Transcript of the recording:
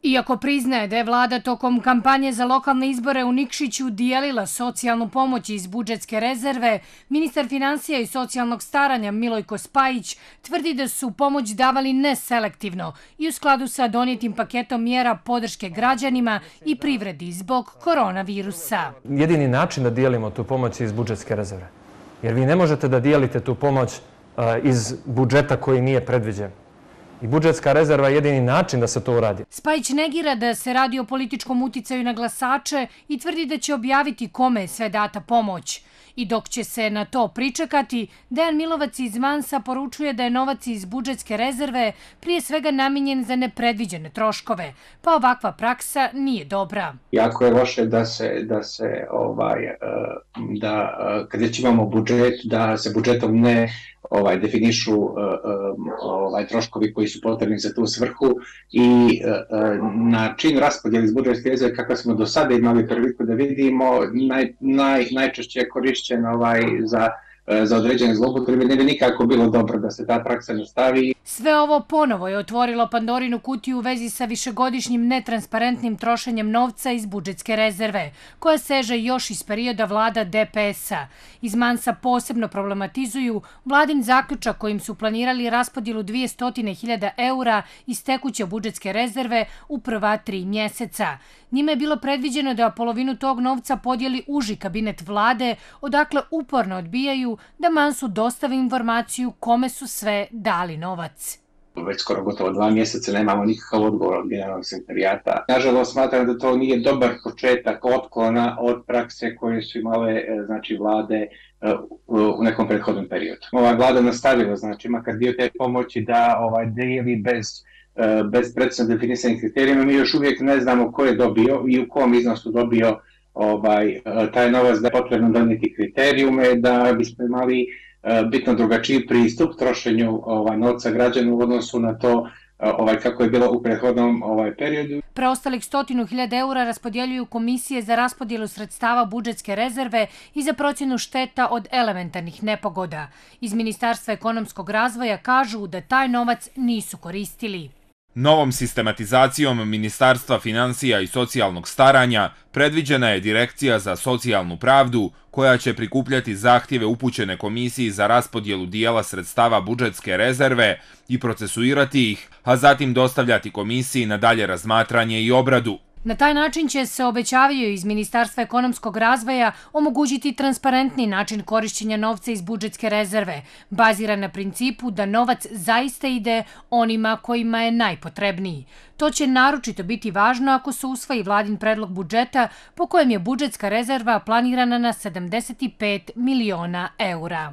Iako priznaje da je vlada tokom kampanje za lokalne izbore u Nikšiću dijelila socijalnu pomoć iz budžetske rezerve, ministar finansija i socijalnog staranja Milojko Spajić tvrdi da su pomoć davali neselektivno i u skladu sa donijetim paketom mjera podrške građanima i privredi zbog koronavirusa. Jedini način da dijelimo tu pomoć je iz budžetske rezerve. Jer vi ne možete da dijelite tu pomoć iz budžeta koji nije predviđen. I budžetska rezerva je jedini način da se to uradi. Spajić negira da se radi o političkom uticaju na glasače i tvrdi da će objaviti kome je sve data pomoć. I dok će se na to pričekati, Dejan Milovac iz Mansa poručuje da je novac iz budžetske rezerve prije svega namijenjen za nepredviđene troškove, pa ovakva praksa nije dobra. Jako je loše da kad već imamo budžet, da se budžetom ne definišu troškovi koji su potrebni za tu svrhu i način raspodjele iz budžetske rezerve kakva smo do sada imali priliku da vidimo najčešće je korišćen za određene zloupotrebe. Ne bi nikako bilo dobro da se ta praksa nastavi. Sve ovo ponovo je otvorilo Pandorinu kutiju u vezi sa višegodišnjim netransparentnim trošenjem novca iz budžetske rezerve, koja seže još iz perioda vlada DPS-a. Iz Mansa posebno problematizuju vladin zaključak kojim su planirali raspodjelu 200.000 eura iz tekuće budžetske rezerve u prva 3 mjeseca. Njime je bilo predviđeno da polovinu tog novca podijeli uži kabinet vlade, odakle uporno odbijaju da Mansu dostavi informaciju kome su sve dali novac. Već skoro gotovo 2 mjeseca nemamo nikakav odgovor od generalnog sekretarijata. Nažalost, smatram da to nije dobar početak otklona od prakse koje su imale vlade u nekom prethodnom periodu. Ova vlada nastavila, makar dio te pomoći da dijeli bez precizno definisanih kriterijima. Mi još uvijek ne znamo ko je dobio i u kom iznosu dobio taj novac, da je potrebno donijeti kriterijume da bismo imali bitno drugačiji pristup trošenju novca građana u odnosu na to kako je bilo u prethodnom periodu. Preostalih 100.000 eura raspodjeljuju komisije za raspodjelu sredstava budžetske rezerve i za procjenu šteta od elementarnih nepogoda. Iz Ministarstva ekonomskog razvoja kažu da taj novac nisu koristili. Novom sistematizacijom Ministarstva finansija i socijalnog staranja predviđena je Direkcija za socijalnu pravdu koja će prikupljati zahtjeve upućene komisiji za raspodjelu dijela sredstava budžetske rezerve i procesuirati ih, a zatim dostavljati komisiji na dalje razmatranje i obradu. Na taj način će se, obećavaju iz Ministarstva ekonomskog razvoja, omogućiti transparentni način korišćenja novca iz budžetske rezerve, baziran na principu da novac zaista ide onima kojima je najpotrebniji. To će naročito biti važno ako se usvoji vladin predlog budžeta po kojem je budžetska rezerva planirana na 75 miliona eura.